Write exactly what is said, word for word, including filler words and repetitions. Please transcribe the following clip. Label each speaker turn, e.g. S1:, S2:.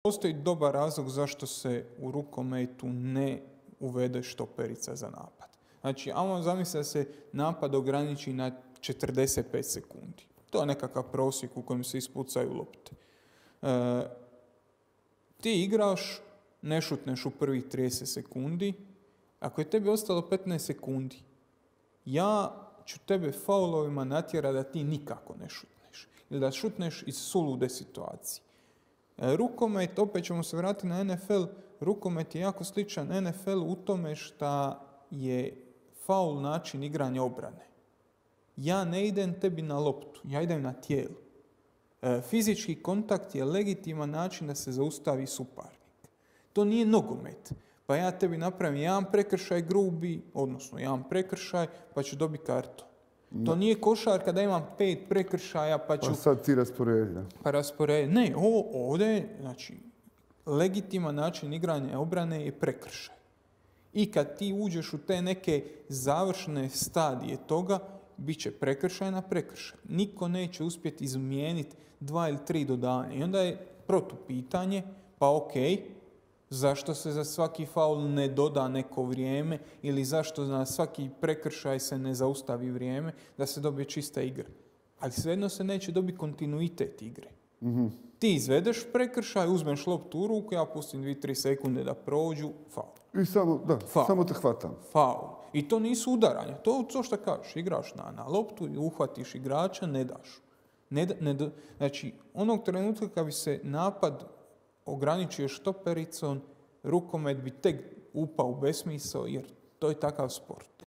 S1: Postoji dobar razlog zašto se u rukometu ne uvede štoperica za napad. Znači, ajmo zamisliti da se napad ograniči na četrdeset pet sekundi. To je nekakav prosjek u kojem se ispucaju lopte. E, ti igraš, ne šutneš u prvih trideset sekundi. Ako je tebi ostalo petnaest sekundi, ja ću tebe faulovima natjerati da ti nikako ne šutneš. Ili da šutneš iz sulude situacije. E, rukomet, opet ćemo se vratiti na N F L, rukomet je jako sličan N F L u tome što je faul način igranja obrane. Ja ne idem tebi na loptu, ja idem na tijelo. E, fizički kontakt je legitiman način da se zaustavi suparnik. To nije nogomet. Pa ja tebi napravim jedan prekršaj grubi, odnosno jedan prekršaj, pa ću dobiti kartu. No. To nije košarka da imam pet prekršaja, pa ću...
S2: Pa sad ti rasporedi.
S1: Pa rasporedi. Ne, ovo ovdje, znači, legitiman način igranja obrane je prekršaj. I kad ti uđeš u te neke završne stadije toga, bit će prekršaj na prekršaj. Niko neće uspjeti izmijeniti dva ili tri dodavanja. I onda je protupitanje, pa okej, zašto se za svaki faul ne doda neko vrijeme ili zašto na svaki prekršaj se ne zaustavi vrijeme da se dobije čista igra. Ali svejedno se neće dobiti kontinuitet igre.
S2: Mm-hmm.
S1: Ti izvedeš prekršaj, uzmeš loptu u ruku, ja pustim dvije tri sekunde da prođu, faul.
S2: I samo, da,
S1: faul.
S2: samo te hvatam.
S1: Faul. I to nisu udaranja. To to što kažeš. Igraš na, na loptu i uhvatiš igrača, ne daš. Ne, ne do, znači, onog trenutka kad bi se napad ograničio štopericom, rukomet bi tek upao u besmisao jer to je takav sport.